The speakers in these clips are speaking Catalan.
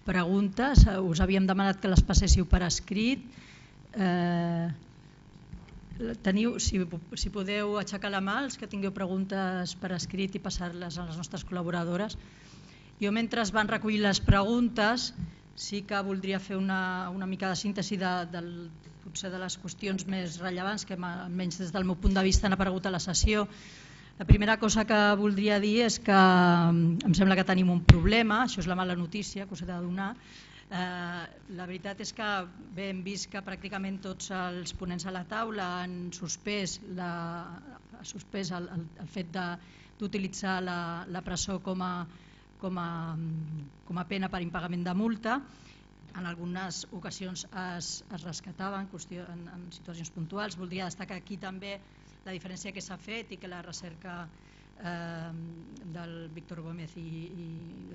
preguntes, us havíem demanat que les passéssiu per escrit. Si podeu aixecar la mà els que tingueu preguntes per escrit i passar-les a les nostres col·laboradores. Jo, mentre es van recollir les preguntes, sí que voldria fer una mica de síntesi potser de les qüestions més rellevants que almenys des del meu punt de vista han aparegut a la sessió. La primera cosa que voldria dir és que em sembla que tenim un problema, això és la mala notícia que us he de donar. La veritat és que hem vist que pràcticament tots els ponents a la taula han suspès el fet d'utilitzar la presó com a pena per impagament de multa. En algunes ocasions es rescataven en situacions puntuals. Voldria destacar aquí també la diferència que s'ha fet i que la recerca del Víctor Gómez i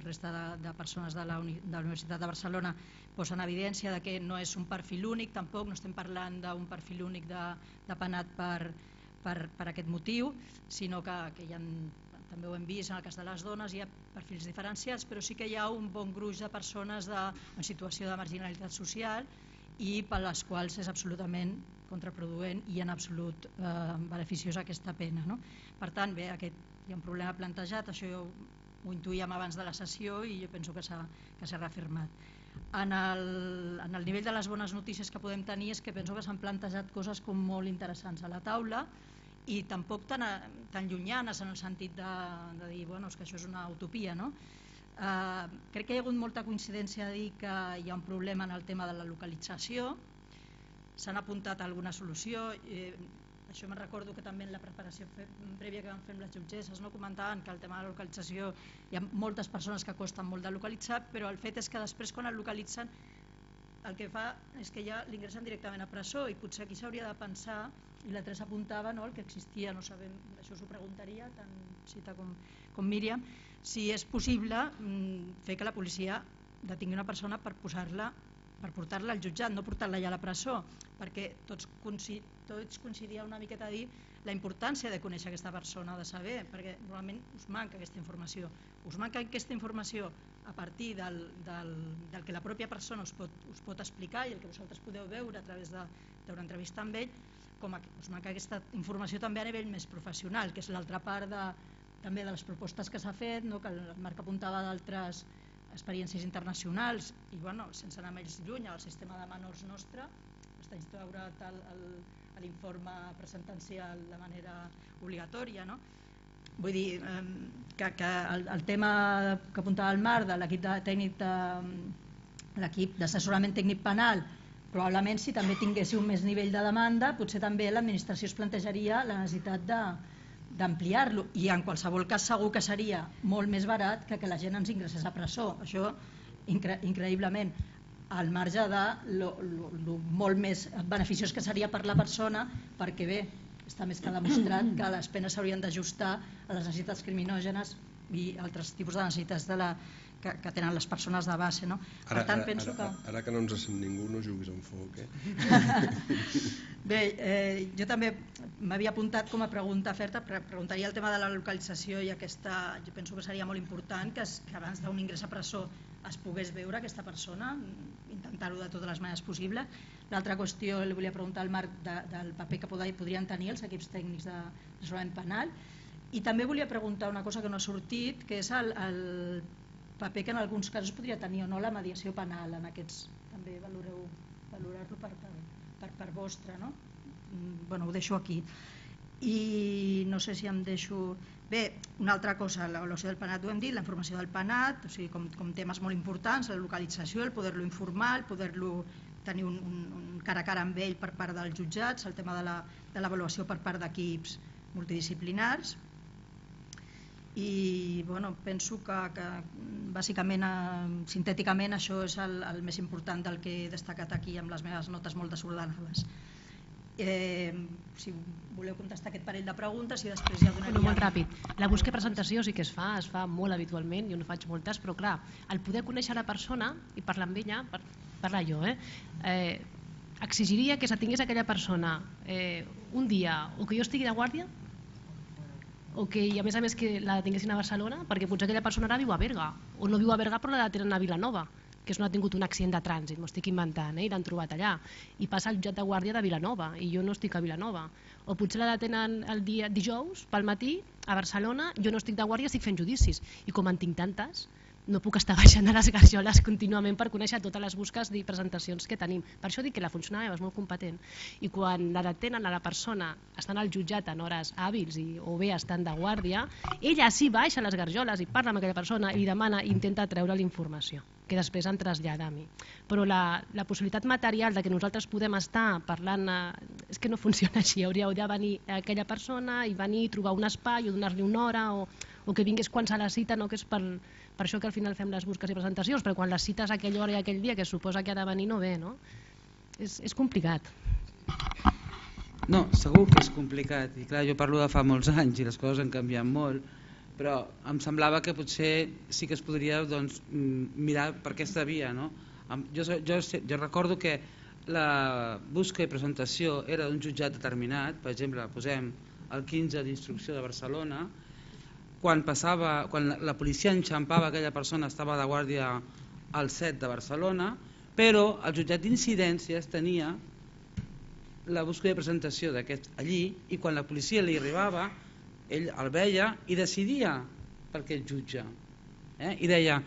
resta de persones de la Universitat de Barcelona posa en evidència que no és un perfil únic, tampoc no estem parlant d'un perfil únic de penat per aquest motiu, sinó que hi ha, també ho hem vist en el cas de les dones, hi ha perfils diferenciats, però sí que hi ha un bon gruix de persones en situació de marginalitat social i per les quals és absolutament contraproduent i en absolut beneficiós aquesta pena. Per tant, bé, hi ha un problema plantejat, això ho intuïem abans de la sessió i jo penso que s'ha reafirmat. En el nivell de les bones notícies que podem tenir és que penso que s'han plantejat coses com molt interessants a la taula i tampoc tan llunyanes en el sentit de dir que això és una utopia. Crec que hi ha hagut molta coincidència a dir que hi ha un problema en el tema de la localització. S'han apuntat alguna solució. Això me'n recordo que també en la preparació prèvia que vam fer amb les jutgesses comentaven que el tema de la localització hi ha moltes persones que costen molt de localitzar, però el fet és que després quan el localitzen el que fa és que ja l'ingressen directament a presó i potser aquí s'hauria de pensar, i la Teresa apuntava el que existia, no sabem, això us ho preguntaria tant Cita com Míriam, si és possible fer que la policia detingui una persona per portar-la al jutjat, no portar-la ja a la presó, perquè tots coincidia una miqueta a dir la importància de conèixer aquesta persona, de saber, perquè normalment us manca aquesta informació. Us manca aquesta informació a partir del que la pròpia persona us pot explicar i el que vosaltres podeu veure a través d'una entrevista amb ell, com us manca aquesta informació també a nivell més professional, que és l'altra part també de les propostes que s'ha fet, que el Marc apuntava d'altres experiències internacionals i sense anar més lluny, el sistema de menors nostre està instaurat l'informe presentencial de manera obligatòria. Vull dir que el tema que apuntava el Marc de l'equip d'assessorament tècnic penal, probablement si també tinguéssiu més nivell de demanda potser també l'administració es plantejaria la necessitat d'ampliar-lo i en qualsevol cas segur que seria molt més barat que la gent ens ingressés a presó, això increïblement, al marge de molt més beneficiós que seria per la persona, perquè bé, està més que demostrat que les penes s'haurien d'ajustar a les necessitats criminògenes i altres tipus de necessitats que tenen les persones de base. Per tant, penso que... Ara que no ens sent ningú, no juguis amb foc. Bé, jo també m'havia apuntat com a pregunta oferta, preguntaria el tema de la localització i aquesta, jo penso que seria molt important que abans d'un ingrés a presó es pogués veure aquesta persona, intentar-ho de totes les maneres possibles. L'altra qüestió, li volia preguntar al Marc del paper que podrien tenir els equips tècnics d'assessorament penal i també volia preguntar una cosa que no ha sortit, que és el paper que en alguns casos podria tenir o no la mediació penal en aquests, també valorar-lo per part vostra. Ho deixo aquí i no sé si em deixo... Bé, una altra cosa, l'avaluació del penat ho hem dit, la informació del penat, com temes molt importants, la localització, el poder-lo informar, el poder-lo tenir un cara a cara amb ell per part dels jutjats, el tema de l'avaluació per part d'equips multidisciplinars i penso que bàsicament, sintèticament, això és el més important del que he destacat aquí amb les meves notes molt desordenades. Si voleu contestar aquest parell de preguntes i després ja donaria... Molt ràpid. La busca i presentació sí que es fa molt habitualment, jo no faig moltes, però clar, el poder conèixer la persona i parlar amb ella, parlar jo, exigiria que se tingués aquella persona un dia o que jo estigui de guàrdia o que a més que la detinguessin a Barcelona, perquè potser aquella persona ara viu a Berga, o no viu a Berga però la detenen a Vilanova, que és on ha tingut un accident de trànsit, m'ho estic inventant, i l'han trobat allà, i passa al jutjat de guàrdia de Vilanova, i jo no estic a Vilanova. O potser la detenen el dia dijous, pel matí, a Barcelona, jo no estic de guàrdia, estic fent judicis, i com en tinc tantes, no puc estar baixant a les garjoles contínuament per conèixer totes les busques i presentacions que tenim. Per això dic que la funcionària és molt competent, i quan la detenen a la persona estan al jutjat en hores hàbils o bé estan de guàrdia, ella sí baixa a les garjoles i parla amb aquella persona i demana i intenta treure la informació que després em trasllada a mi. Però la possibilitat material de que nosaltres podem estar parlant és que no funciona així. Hauríeu de venir aquella persona i venir a trobar un espai o donar-li una hora o que vingués quan se la cita, no? Que és per això que al final fem les busques i presentacions, però quan les cites a aquella hora i aquell dia que es suposa que ha de venir no ve, no? És complicat. No, segur que és complicat, i clar, jo parlo de fa molts anys i les coses han canviat molt, però em semblava que potser sí que es podria mirar per aquesta via, no? Jo recordo que la busca i presentació era d'un jutjat determinat, per exemple, posem el 15 d'instrucció de Barcelona, quan la policia enxampava aquella persona estava de guàrdia al 7 de Barcelona, però el jutjat d'incidències tenia la busca i presentació d'aquest allí, i quan la policia li arribava ell el veia i decidia per aquest jutge, i deia,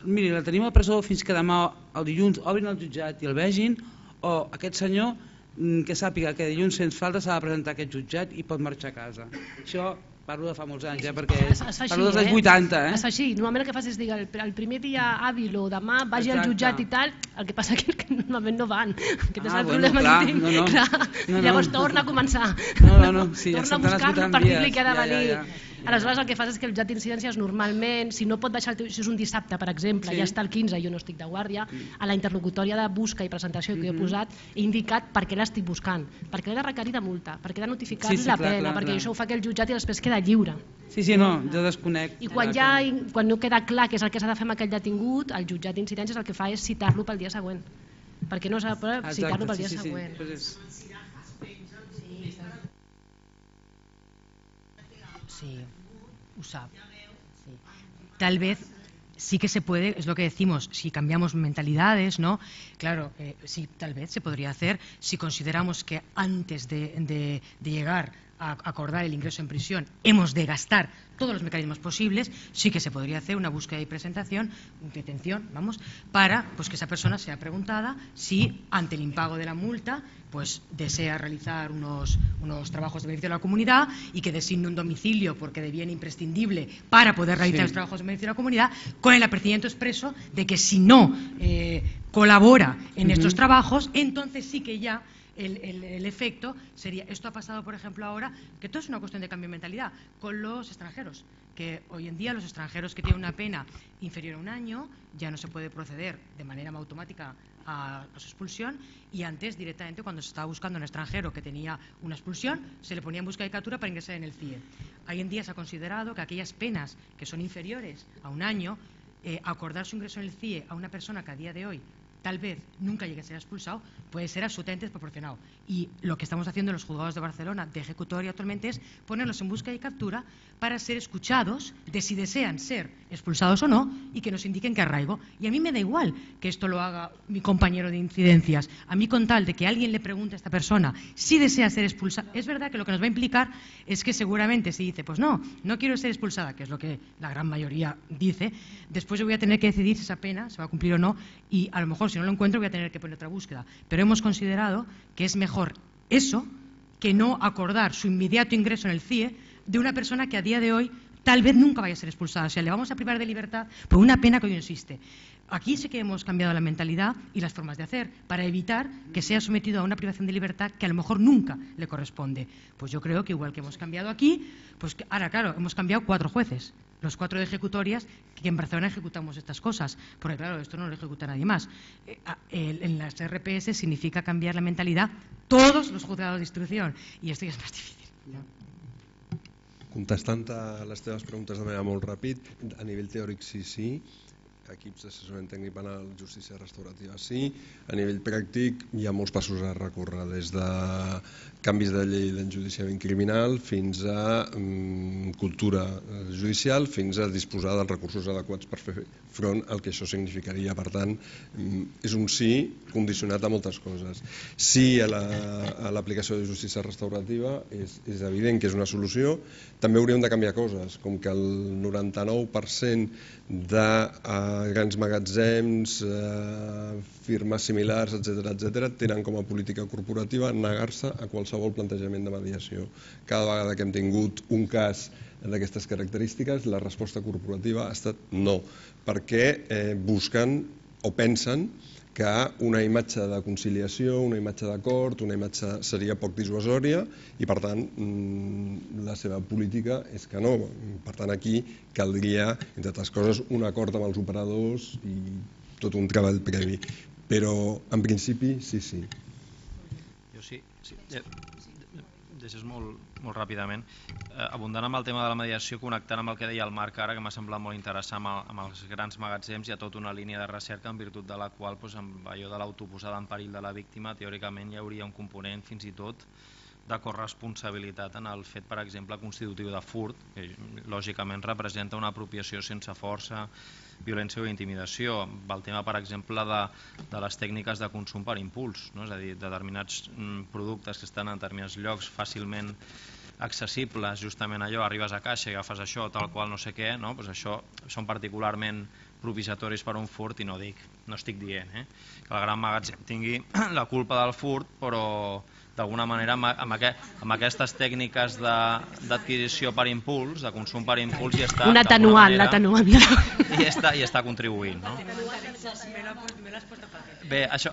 miri, la tenim a presó fins que demà el dilluns obrin el jutjat i el vegin, o aquest senyor que sàpiga que dilluns sense falta s'ha de presentar a aquest jutjat i pot marxar a casa. Això parlo de fa molts anys, perquè parlo dels anys 80. Es fa així, normalment el que fas és dir el primer dia hàbil o demà vagi al jutjat i tal, el que passa que normalment no van, aquest és el problema que tinc. Llavors torna a començar, torna a buscar-lo per dir-li que ha de venir. Aleshores el que fas és que el jutjat d'incidències normalment, si no pot baixar, si és un dissabte per exemple, ja està el 15 i jo no estic de guàrdia, a la interlocutòria de busca i presentació que he posat he indicat per què l'estic buscant, perquè l'he de requerir de multa, perquè he de notificar la pena, perquè això ho fa aquell jutjat i després queda lliure. Sí, no, jo desconec. I quan no queda clar què és el que s'ha de fer amb aquell detingut, el jutjat d'incidències el que fa és citar-lo pel dia següent, perquè no s'ha de citar-lo pel dia següent. Sí, lo sabe. Sí. Tal vez sí que se puede, es lo que decimos, si cambiamos mentalidades, ¿no? Claro, sí, tal vez se podría hacer si consideramos que antes de llegar a acordar el ingreso en prisión hemos de gastar todos los mecanismos posibles, sí que se podría hacer una búsqueda y presentación, detención, vamos, para que esa persona sea preguntada si ante el impago de la multa desea realizar unos trabajos de beneficio de la comunidad y que designe un domicilio porque de bien imprescindible para poder realizar los trabajos de beneficio de la comunidad, con el apercibimiento expreso de que si no colabora en estos trabajos, entonces sí que ya el efecto sería, esto ha pasado por ejemplo ahora, que todo es una cuestión de cambio de mentalidad, con los extranjeros, que hoy en día los extranjeros que tienen una pena inferior a un año ya no se puede proceder de manera automática a su expulsión, y antes directamente cuando se estaba buscando un extranjero que tenía una expulsión se le ponía en busca de captura para ingresar en el CIE. Hoy en día se ha considerado que aquellas penas que son inferiores a un año, acordar su ingreso en el CIE a una persona que a día de hoy tal vez nunca llegue a ser expulsado, puede ser absolutamente desproporcionado. Y lo que estamos haciendo en los juzgados de Barcelona de ejecutoria actualmente es ponerlos en busca y captura para ser escuchados de si desean ser expulsados o no, y que nos indiquen qué arraigo. Y a mí me da igual que esto lo haga mi compañero de incidencias. A mí, con tal de que alguien le pregunte a esta persona si desea ser expulsada, es verdad que lo que nos va a implicar es que seguramente si dice, pues no quiero ser expulsada, que es lo que la gran mayoría dice, después yo voy a tener que decidir si esa pena se va a cumplir o no, y a lo mejor si no lo encuentro voy a tener que poner otra búsqueda. Pero hemos considerado que es mejor eso que no acordar su inmediato ingreso en el CIE de una persona que a día de hoy tal vez nunca vaya a ser expulsada. O sea, le vamos a privar de libertad por una pena que hoy no existe. Aquí sí que hemos cambiado la mentalidad y las formas de hacer para evitar que sea sometido a una privación de libertad que a lo mejor nunca le corresponde. Pues yo creo que igual que hemos cambiado aquí, pues ahora claro, hemos cambiado 4 jueces, los 4 de ejecutorias, que en Barcelona ejecutamos estas cosas, porque claro, esto no lo ejecuta nadie más. En las RPS significa cambiar la mentalidad todos los juzgados de instrucción, y esto ya es más difícil, ¿no? Contestant a les teves preguntes de manera molt ràpid, a nivell teòric sí, equips d'assessorament tècnic penal, justícia restaurativa sí. A nivell pràctic hi ha molts passos a recórrer, des de canvis de llei d'enjudiciament criminal fins a cultura judicial, fins a disposar dels recursos adequats per fer front al que això significaria. Per tant, és un sí condicionat a moltes coses. Sí a l'aplicació de justícia restaurativa, és evident que és una solució. També hauríem de canviar coses, com que el 99% de grans magatzems, firmes similars, etc., tenen com a política corporativa negar-se a qualsevol plantejament de mediació. Cada vegada que hem tingut un cas d'aquestes característiques, la resposta corporativa ha estat no, perquè busquen o pensen que una imatge de conciliació, una imatge d'acord, una imatge seria poc dissuasòria i, per tant, la seva política és que no. Per tant, aquí caldria, entre altres coses, un acord amb els operadors i tot un treball previ. Però, en principi, sí. Jo sí. Deixes molt ràpidament. Abundant amb el tema de la mediació, connectant amb el que deia el Marc ara, que m'ha semblat molt interessant amb els grans magatzems, hi ha tota una línia de recerca en virtut de la qual, amb allò de l'autoposada en perill de la víctima, teòricament hi hauria un component fins i tot de corresponsabilitat en el fet, per exemple, constitutiu de furt, que lògicament representa una apropiació sense força, violència o intimidació. El tema, per exemple, de les tècniques de consum per impuls, no? És a dir, determinats productes que estan en determinats llocs fàcilment accessibles, justament allò, arribes a caixa i agafes això, tal qual no sé què, no? Pues això són particularment propiciatoris per a un furt i no estic dient que el gran magatzem tingui la culpa del furt, però d'alguna manera amb aquestes tècniques d'adquisició per impuls, de consum per impuls, i està... Un atenuant, l'atenuant. I està contribuint, no? Bé, això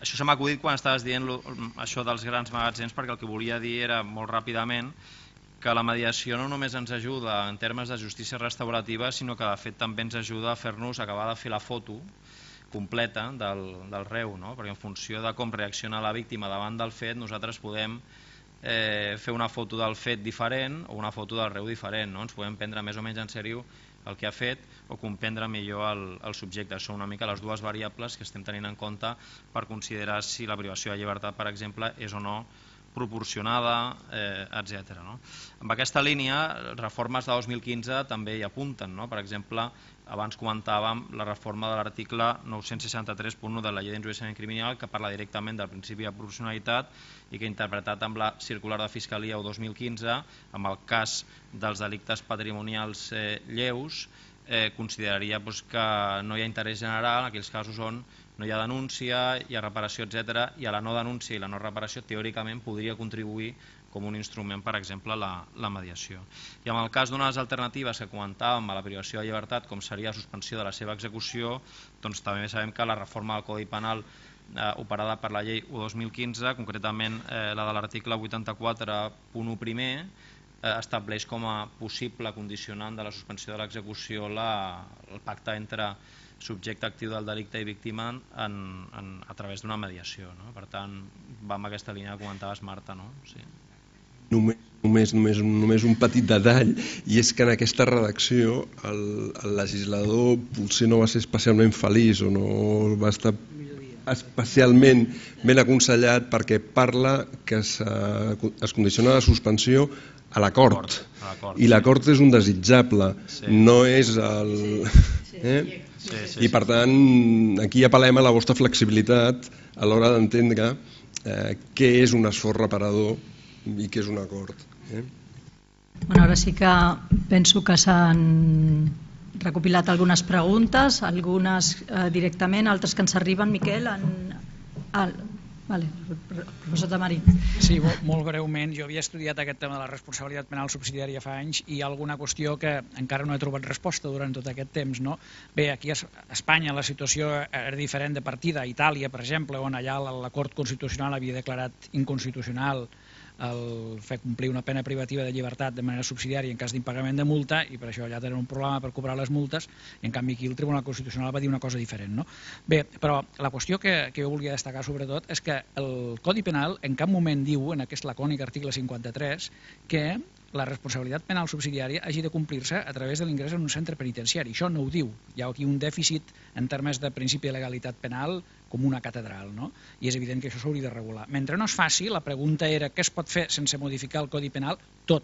se m'ha acudit quan estaves dient això dels grans magatzems, perquè el que volia dir era molt ràpidament que la mediació no només ens ajuda en termes de justícia restaurativa, sinó que de fet també ens ajuda a fer-nos acabar de fer la foto completa del reu, no? Perquè en funció de com reacciona la víctima davant del fet, nosaltres podem fer una foto del fet diferent o una foto del reu diferent, no? Ens podem prendre més o menys en sèrio el que ha fet o comprendre millor el subjecte. Són una mica les dues variables que estem tenint en compte per considerar si la privació de llibertat, per exemple, és o no proporcionada, etc. Amb aquesta línia, reformes de 2015 també hi apunten. Per exemple, abans comentàvem la reforma de l'article 963.1 de la llei d'enjudiciament criminal, que parla directament del principi de proporcionalitat i que, interpretat amb la circular de Fiscalia 2015, amb el cas dels delictes patrimonials lleus, consideraria que no hi ha interès general en aquells casos on no hi ha denúncia, hi ha reparació, etc. I a la no denúncia i la no reparació teòricament podria contribuir com un instrument, per exemple, la mediació. I en el cas d'unes alternatives que comentàvem a la privació de llibertat, com seria la suspensió de la seva execució, doncs també sabem que la reforma del Codi Penal operada per la llei 1/2015, concretament la de l'article 84.1 primer, estableix com a possible condicionant de la suspensió de l'execució el pacte entre subjecte actiu del delicte i víctima a través d'una mediació. Per tant, va amb aquesta línia que comentaves, Marta. Només un petit detall, i és que en aquesta redacció el legislador potser no va ser especialment feliç o no va estar especialment ben aconsellat, perquè parla que es condiciona la suspensió a l'acord, i l'acord és un desitjable, no és el... I per tant, aquí apel·lem a la vostra flexibilitat a l'hora d'entendre què és un esforç reparador i què és un acord. Ara sí que penso que s'han recopilat algunes preguntes, algunes directament, altres que ens arriben. Miquel, professor Tamarí. Sí, molt breument. Jo havia estudiat aquest tema de la responsabilitat penal subsidiària fa anys i hi ha alguna qüestió que encara no he trobat resposta durant tot aquest temps. Bé, aquí a Espanya la situació era diferent de partida. A Itàlia, per exemple, on allà la Cort Constitucional havia declarat inconstitucional el fer complir una pena privativa de llibertat de manera subsidiària en cas d'impagament de multa, i per això allà tenen un problema per cobrar les multes, i en canvi aquí el Tribunal Constitucional va dir una cosa diferent. Bé, però la qüestió que jo volia destacar sobretot és que el Codi Penal en cap moment diu, en aquest lacònic article 53, que la responsabilitat penal subsidiària hagi de complir-se a través de l'ingrés en un centre penitenciari. Això no ho diu. Hi ha aquí un dèficit en termes de principi de legalitat penal com una catedral, no? I és evident que això s'hauria de regular. Mentre no es faci, la pregunta era què es pot fer sense modificar el Codi Penal? Tot.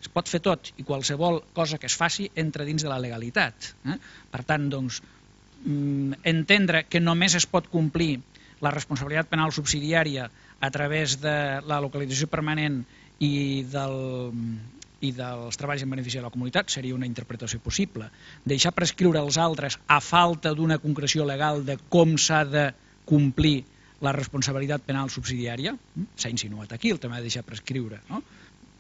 Es pot fer tot i qualsevol cosa que es faci entra dins de la legalitat. Per tant, doncs, entendre que només es pot complir la responsabilitat penal subsidiària a través de la localització permanent i dels treballs en benefici de la comunitat seria una interpretació possible. Deixar prescriure als altres a falta d'una concreció legal de com s'ha de complir la responsabilitat penal subsidiària, s'ha insinuat aquí el tema de deixar prescriure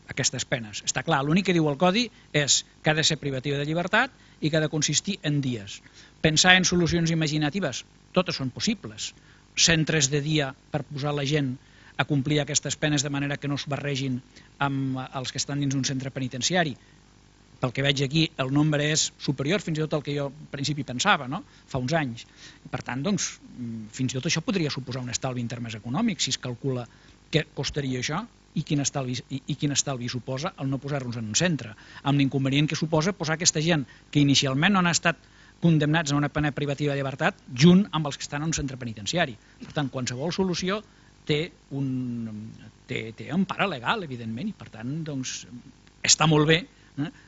aquestes penes. Està clar, l'únic que diu el Codi és que ha de ser privativa de llibertat i que ha de consistir en dies. Pensar en solucions imaginatives, totes són possibles. Centres de dia per posar la gent a complir aquestes penes de manera que no es barregin amb els que estan dins un centre penitenciari. Pel que veig aquí, el nombre és superior fins i tot al que jo al principi pensava, fa uns anys. Per tant, doncs, fins i tot això podria suposar un estalvi en termes econòmics, si es calcula què costaria això i quin estalvi suposa el no posar-nos en un centre, amb l'inconvenient que suposa posar aquesta gent que inicialment no han estat condemnats a una pena privativa de llibertat junt amb els que estan en un centre penitenciari. Per tant, qualsevol solució té empara legal, evidentment, i per tant està molt bé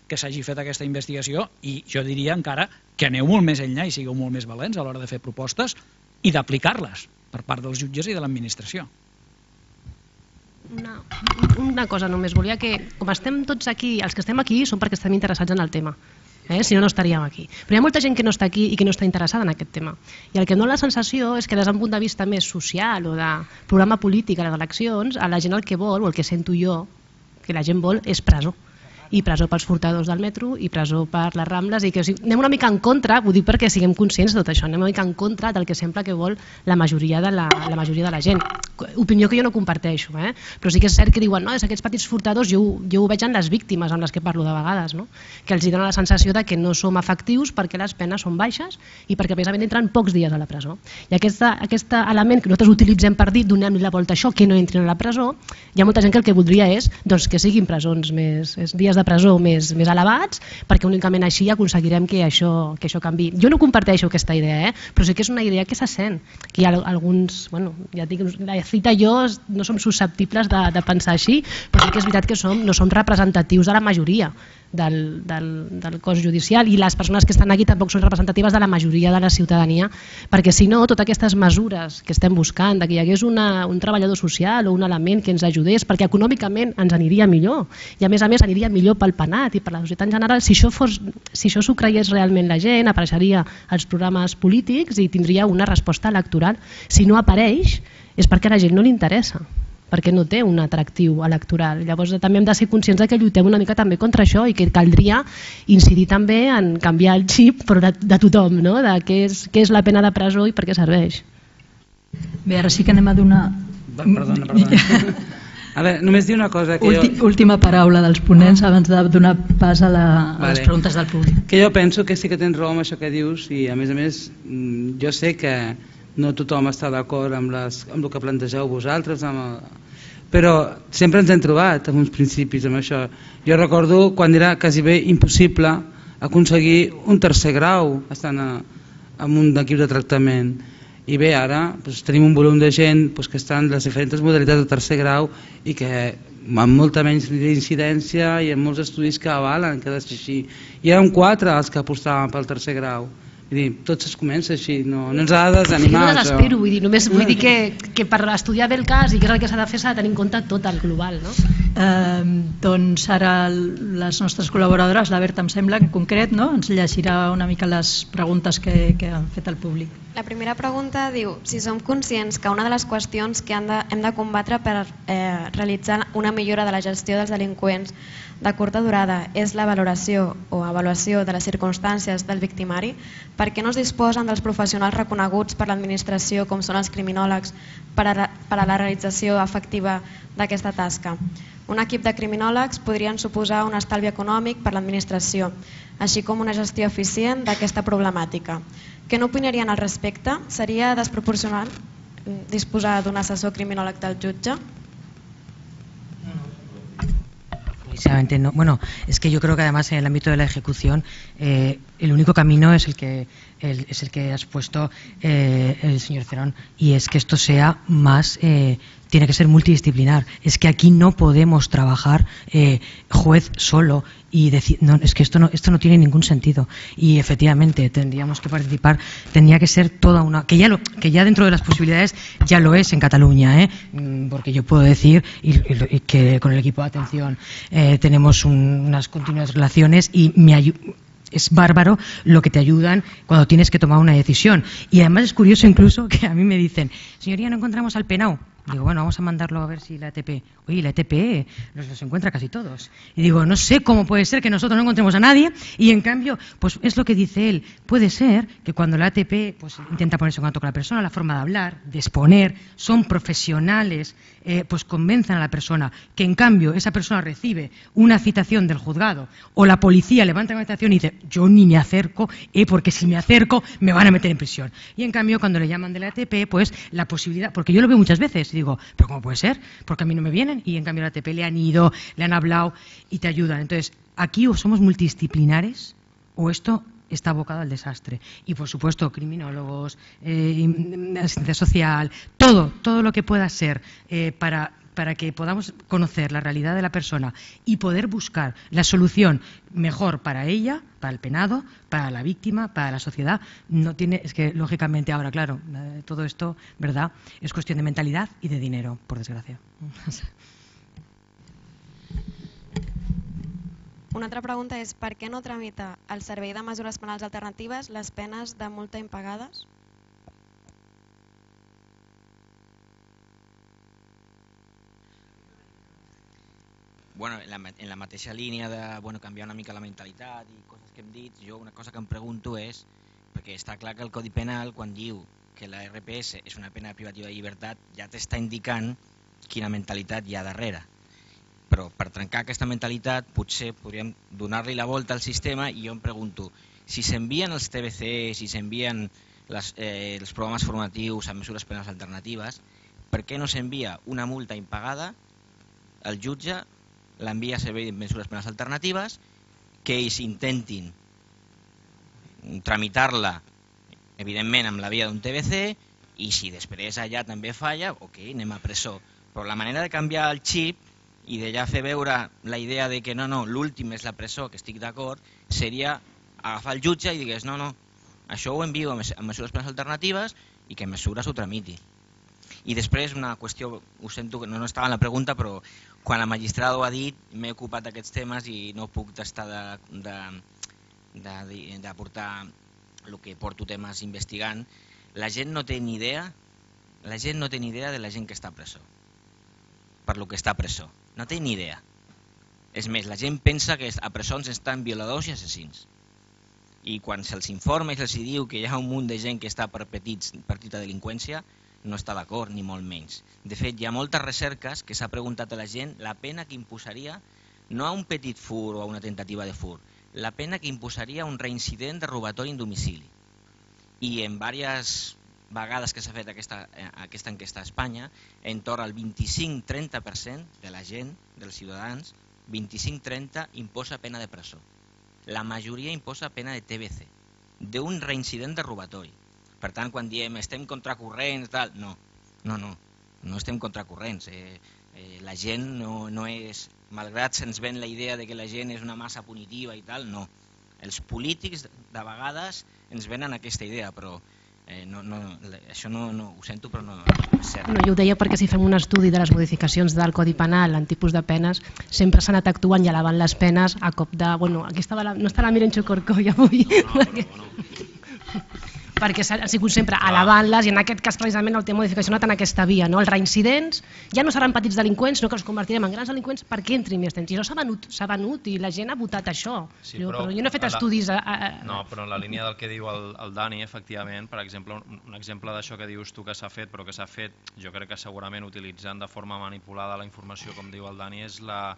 que s'hagi fet aquesta investigació i jo diria encara que aneu molt més enllà i sigueu molt més valents a l'hora de fer propostes i d'aplicar-les per part dels jutges i de l'administració. Una cosa només, volia que, com estem tots aquí, els que estem aquí són perquè estem interessats en el tema. Si no, no estaríem aquí. Però hi ha molta gent que no està aquí i que no està interessada en aquest tema. I el que em dóna la sensació és que des d'un punt de vista més social o de programa polític a les eleccions, a la gent el que vol, o el que sento jo, que la gent vol, és presó. I presó pels furtadors del metro i presó per les Rambles i que anem una mica en contra, ho dic perquè siguem conscients de tot això, anem una mica en contra del que sembla que vol la majoria de la gent. Opinió que jo no comparteixo, però sí que és cert que diuen aquests petits furtadors, jo ho veig en les víctimes amb les que parlo de vegades, que els dona la sensació de que no som efectius perquè les penes són baixes i perquè precisament entren pocs dies a la presó. I aquest element que nosaltres utilitzem per dir donem-li la volta a això, que no entrin a la presó, hi ha molta gent que el que voldria és que siguin presons més dies de presó més elevats, perquè únicament així aconseguirem que això canvi. Jo no comparteixo aquesta idea, però sí que és una idea que se sent, que hi ha alguns, ja dic, la cita i jo no som susceptibles de pensar així, però sí que és veritat que no som representatius de la majoria del cos judicial i les persones que estan aquí tampoc són representatives de la majoria de la ciutadania, perquè si no, totes aquestes mesures que estem buscant, que hi hagués un treballador social o un element que ens ajudés, perquè econòmicament ens aniria millor i a més aniria millor pel penat i per la societat en general, si això s'ho creiés realment la gent, apareixeria als programes polítics i tindria una resposta electoral. Si no apareix és perquè a la gent no li interessa, perquè no té un atractiu electoral. Llavors també hem de ser conscients que lluitem una mica també contra això i que caldria incidir també en canviar el xip però de tothom, de què és la pena de presó i per què serveix. Bé, ara sí que anem a donar... Perdona. A veure, només dir una cosa... Última paraula dels ponents abans de donar pas a les preguntes del públic. Que jo penso que sí que tens raó amb això que dius i a més jo sé que no tothom està d'acord amb el que plantegeu vosaltres, però sempre ens hem trobat amb uns principis amb això. Jo recordo quan era quasi bé impossible aconseguir un tercer grau estant en un equip de tractament i bé, ara tenim un volum de gent que està en les diferents modalitats de tercer grau i que amb molta menys incidència i amb molts estudis que avalen que ha de ser així. I érem 4 els que apostàvem pel tercer grau. Tot es comença així, no ens ha de desanimar. Jo no desespero, només vull dir que per estudiar bé el cas i què és el que s'ha de fer s'ha de tenir en compte tot el global. Doncs ara les nostres col·laboradores, la Berta em sembla en concret, ens llegirà una mica les preguntes que han fet el públic. La primera pregunta diu si som conscients que una de les qüestions que hem de combatre per realitzar una millora de la gestió dels delinqüents de curta durada és la valoració o avaluació de les circumstàncies del victimari, per què no es disposen dels professionals reconeguts per l'administració com són els criminòlegs per a la realització efectiva d'aquesta tasca? Un equip de criminòlegs podrien suposar un estalvi econòmic per l'administració, així com una gestió eficient d'aquesta problemàtica. Què n'opinarien al respecte? Seria desproporcional disposar d'un assessor criminòleg del jutge? Precisamente no. Bueno, es que yo creo que además en el ámbito de la ejecución el único camino es el que ha expuesto el señor Cerón, y es que esto sea más, tiene que ser multidisciplinar. Es que aquí no podemos trabajar juez solo y decir, no, es que esto no tiene ningún sentido. Y efectivamente tendríamos que participar, tendría que ser toda una, que ya dentro de las posibilidades ya lo es en Cataluña, porque yo puedo decir y que con el equipo de atención tenemos unas continuas relaciones y es bárbaro lo que te ayudan cuando tienes que tomar una decisión. Y además es curioso incluso que a mí me dicen, señoría, no encontramos al penao. Digo, bueno, vamos a mandarlo a ver si la ETP... Oye, la ETP los encuentra casi todos. Y digo, no sé cómo puede ser que nosotros no encontremos a nadie y en cambio, pues es lo que dice él. Puede ser que cuando la ETP pues, intenta ponerse en contacto con la persona, la forma de hablar, de exponer, son profesionales, pues convenzan a la persona que en cambio esa persona recibe una citación del juzgado o la policía levanta una citación y dice, yo ni me acerco, porque si me acerco me van a meter en prisión. Y en cambio cuando le llaman de la ETP, pues la posibilidad, porque yo lo veo muchas veces, digo, pero ¿cómo puede ser? Porque a mí no me vienen y en cambio a la ATP le han ido, le han hablado y te ayudan. Entonces, aquí o somos multidisciplinares o esto está abocado al desastre. Y por supuesto, criminólogos, asistencia social, todo lo que pueda ser para que podamos conocer la realidad de la persona y poder buscar la solución mejor para ella, para el penado, para la víctima, para la sociedad. No tiene, es que lógicamente ahora, claro, todo esto, ¿verdad?, es cuestión de mentalidad y de dinero, por desgracia. Una altra pregunta és per què no tramita el Servei de Mesures Penals Alternatives les penes de multa impagades? Bueno, en la mateixa línia de canviar una mica la mentalitat i coses que hem dit, jo una cosa que em pregunto és, perquè està clar que el Codi Penal, quan diu que la RPS és una pena privativa de llibertat, ja t'està indicant quina mentalitat hi ha darrere. Però per trencar aquesta mentalitat potser podríem donar-li la volta al sistema i jo em pregunto, si s'envien els TBC, si s'envien els programes formatius amb mesures penals alternatives, per què no s'envia una multa impagada, el jutge l'envia a servei de mesures penals alternatives, que ells intentin tramitar-la, evidentment, amb la via d'un TBC, i si després allà també falla, ok, anem a presó. Però la manera de canviar el xip i de ja fer veure la idea de que no, l'últim és la presó, que estic d'acord, seria agafar el jutge i digués, no, això ho envio a mesures penals alternatives i que mesures ho tramiti. I després una qüestió, ho sento que no estava en la pregunta, però quan la magistrada ho ha dit m'he ocupat d'aquests temes i no puc estar d'aportar el que porto temes investigant. La gent no té ni idea de la gent que està a presó, per lo que està a presó. No té ni idea. És més, la gent pensa que a presons estan violadors i assassins. I quan se'ls informa i se'ls diu que hi ha un munt de gent que està per petita delinqüència, no està d'acord, ni molt menys. De fet, hi ha moltes recerques que s'ha preguntat a la gent la pena que imposaria, no a un petit fur o a una tentativa de fur, la pena que imposaria un reincident de robatori en domicili. I en diverses vegades que s'ha fet aquesta enquesta a Espanya, entorn al 25-30% de la gent, dels ciutadans, 25-30 imposa pena de presó. La majoria imposa pena de TBC, d'un reincident de robatori. Per tant, quan diem estem contracorrents, no estem contracorrents. La gent no és, malgrat se'ns ven la idea de que la gent és una massa punitiva i tal, no. Els polítics de vegades ens venen aquesta idea, però això no ho sento, però no és cert. Jo ho deia perquè si fem un estudi de les modificacions del Codi Penal en tipus de penes, sempre s'ha anat actuant i elevant les penes a cop de... Aquí no està la Mirenxo Corcoll avui. Perquè han sigut sempre elevant-les i en aquest cas precisament el tema modificació ha anat en aquesta via. Els reincidents ja no seran petits delinqüents, sinó que els convertirem en grans delinqüents perquè entrin més temps. I això s'ha venut i la gent ha votat això. Però jo no he fet estudis... No, però en la línia del que diu el Dani, efectivament, per exemple, un exemple d'això que dius tu que s'ha fet, però que s'ha fet, jo crec que segurament utilitzant de forma manipulada la informació, com diu el Dani, és la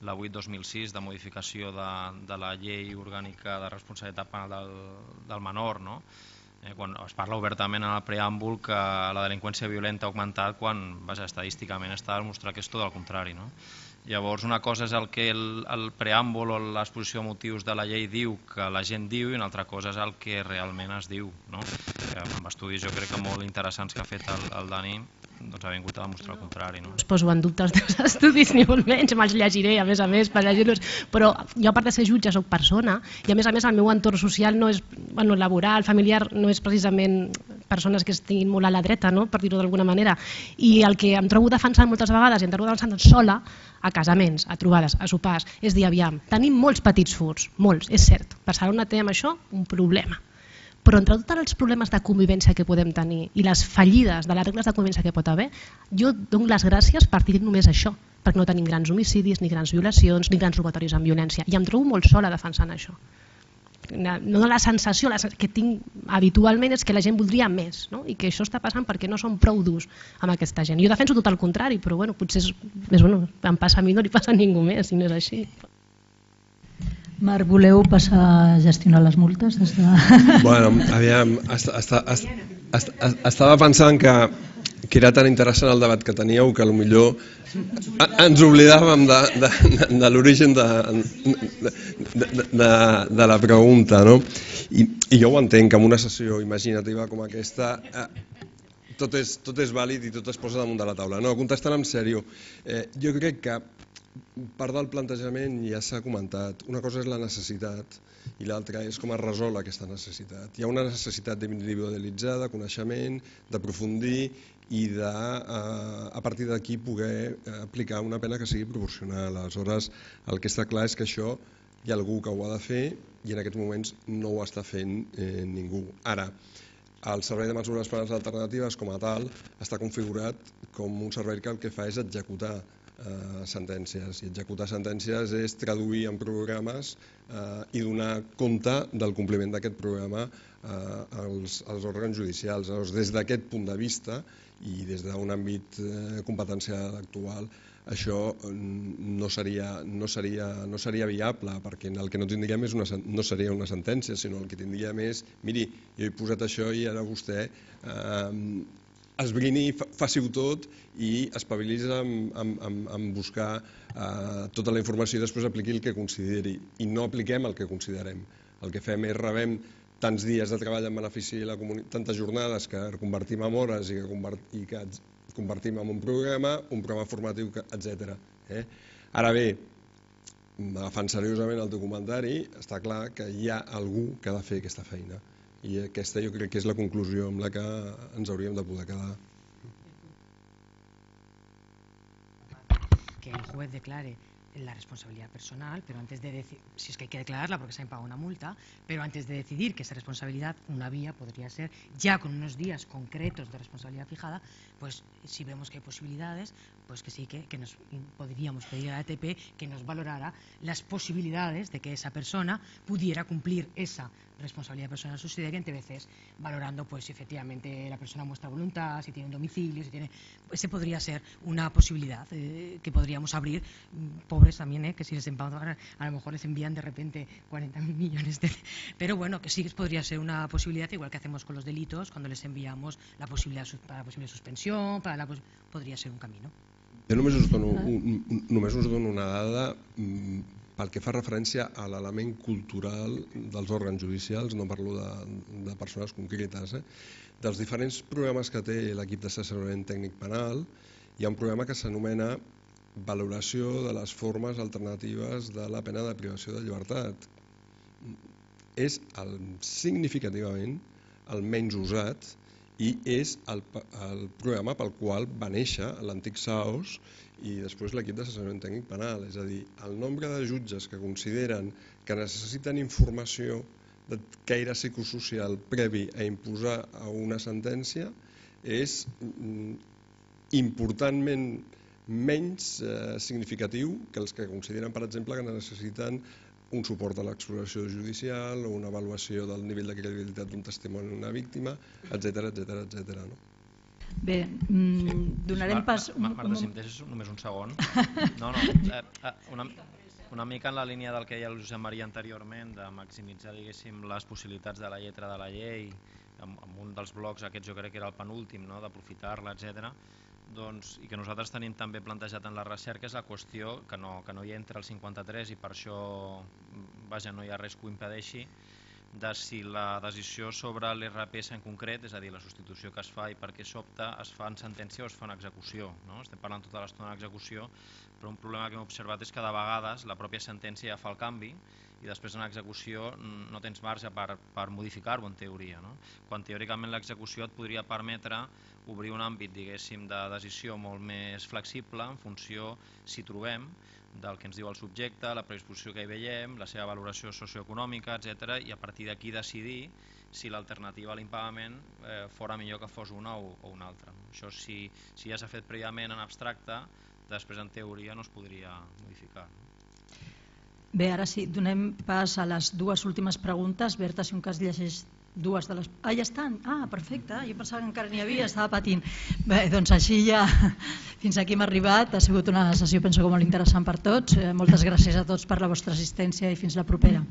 8/2006 de modificació de la llei orgànica de responsabilitat penal del menor, no? Quan es parla obertament en el preàmbul que la delinqüència violenta ha augmentat quan estadísticament està demostrat que és tot el contrari. Llavors, una cosa és el que el preàmbul o l'exposició de motius de la llei diu que la gent diu i una altra cosa és el que realment es diu. Amb estudis jo crec que molt interessants que ha fet el Dani, doncs ha vingut a demostrar el contrari. No us poso en dubte els teus estudis, ni molt menys, me'ls llegiré a més, per llegir-los, però jo a part de ser jutge soc persona i a més el meu entorn social no és, laboral, familiar, no és precisament persones que estiguin molt a la dreta, per dir-ho d'alguna manera, i el que em trobo defensant moltes vegades, i em trobo defensant sola, a casaments, a trobades, a sopars, és dir, aviam, tenim molts petits furts, molts, és cert, Barcelona té amb això un problema, però entre tots els problemes de convivència que podem tenir i les fallides de les regles de convivència que pot haver, jo dono les gràcies per dir només això, perquè no tenim grans homicidis, ni grans violacions, ni grans robatoris amb violència, i em trobo molt sola defensant això. No, la sensació que tinc habitualment és que la gent voldria més, i que això està passant perquè no som prou durs amb aquesta gent. Jo defenso tot el contrari, però potser em passa a mi, no li passa a ningú més, si no és així. Marc, voleu passar a gestionar les multes? Bueno, aviam, estava pensant que era tan interessant el debat que teníeu que potser ens oblidàvem de l'origen de la pregunta, no? I jo ho entenc, que en una sessió imaginativa com aquesta tot és vàlid i tot es posa damunt de la taula. No, contestant en sèrio, jo crec que part del plantejament ja s'ha comentat. Una cosa és la necessitat i l'altra és com es resol aquesta necessitat. Hi ha una necessitat d'individualitzar, de coneixement, d'aprofundir i a partir d'aquí poder aplicar una pena que sigui proporcional. Aleshores, el que està clar és que això hi ha algú que ho ha de fer i en aquests moments no ho està fent ningú. Ara, el Servei de Mesures Penals Alternatives com a tal està configurat com un servei que el que fa és executar sentències, i executar sentències és traduir en programes i donar compte del compliment d'aquest programa als òrgans judicials. Llavors, des d'aquest punt de vista i des d'un àmbit competencial actual, això no seria viable, perquè el que no tindríem no seria una sentència, sinó el que tindríem és, miri, jo he posat això i ara vostè esbrini, faci-ho tot i espavili's en buscar tota la informació i després apliqui el que consideri. I no apliquem el que considerem. El que fem és rebem tants dies de treball en benefici de la comunitat, tantes jornades que convertim en hores i que convertim en un programa formatiu, etc. Ara bé, agafant seriosament el teu comentari, està clar que hi ha algú que ha de fer aquesta feina. I aquesta jo crec que és la conclusió amb la que ens hauríem de poder quedar. Que el juez declare la responsabilidad personal, pero antes de decir, si es que hay que declararla porque se ha pagado una multa, pero antes de decidir que esa responsabilidad, una vía podría ser, ya con unos días concretos de responsabilidad fijada, pues si vemos que hay posibilidades, pues que sí que nos podríamos pedir a la ATP que nos valorara las posibilidades de que esa persona pudiera cumplir esa responsabilidad personal subsidiaria, entre veces valorando pues si efectivamente la persona muestra voluntad, si tiene un domicilio, si tiene, pues ese podría ser una posibilidad que podríamos abrir. Pobres también, que si les a lo mejor les envían de repente 40.000 millones pero bueno, que sí que podría ser una posibilidad, igual que hacemos con los delitos, cuando les enviamos la posibilidad para la posible suspensión, podría ser un camino. Jo només us dono una dada pel que fa referència a l'element cultural dels òrgans judicials, no parlo de persones concretes. Dels diferents programes que té l'equip d'assessorament tècnic penal, hi ha un programa que s'anomena valoració de les formes alternatives de la pena de privació de llibertat. És significativament el menys usat i és el programa pel qual va néixer l'antic SAOS i després l'equip d'assessorament tècnic penal. És a dir, el nombre de jutges que consideren que necessiten informació de caire psicosocial previ a imposar una sentència és importantment menys significatiu que els que consideren, per exemple, que necessiten un suport a l'exploració judicial o una avaluació del nivell de credibilitat d'un testimoni d'una víctima, etc. Bé, donarem pas... Marta, si em deixes només un segon. Una mica en la línia del que deia el Josep Maria anteriorment, de maximitzar, diguéssim, les possibilitats de la lletra de la llei, amb un dels blocs, aquest jo crec que era el penúltim, d'aprofitar-la, etc. i que nosaltres tenim també plantejat en la recerca és la qüestió que no hi entra el 53 i per això no hi ha res que ho impedeixi, de si la decisió sobre l'IRPS en concret, és a dir, la substitució que es fa i per què s'opta, es fa en sentència o es fa en execució. Estem parlant tota l'estona d'execució, però un problema que hem observat és que de vegades la pròpia sentència ja fa el canvi i després en execució no tens marge per modificar-ho en teoria, quan teòricament l'execució et podria permetre obrir un àmbit, diguéssim, de decisió molt més flexible en funció, si trobem, del que ens diu el subjecte, la predisposició que hi veiem, la seva valoració socioeconòmica, etc. I a partir d'aquí decidir si l'alternativa a l'impagament fora millor que fos una o una altra. Això si ja s'ha fet prèviament en abstracte, després en teoria no es podria modificar. Bé, ara sí, donem pas a les dues últimes preguntes. Berta, si un cas llegeix dues de les... Ah, ja estan? Ah, perfecte, jo pensava que encara n'hi havia, estava patint. Bé, doncs així ja fins aquí hem arribat, ha sigut una sessió penso que molt interessant per tots. Moltes gràcies a tots per la vostra assistència i fins la propera.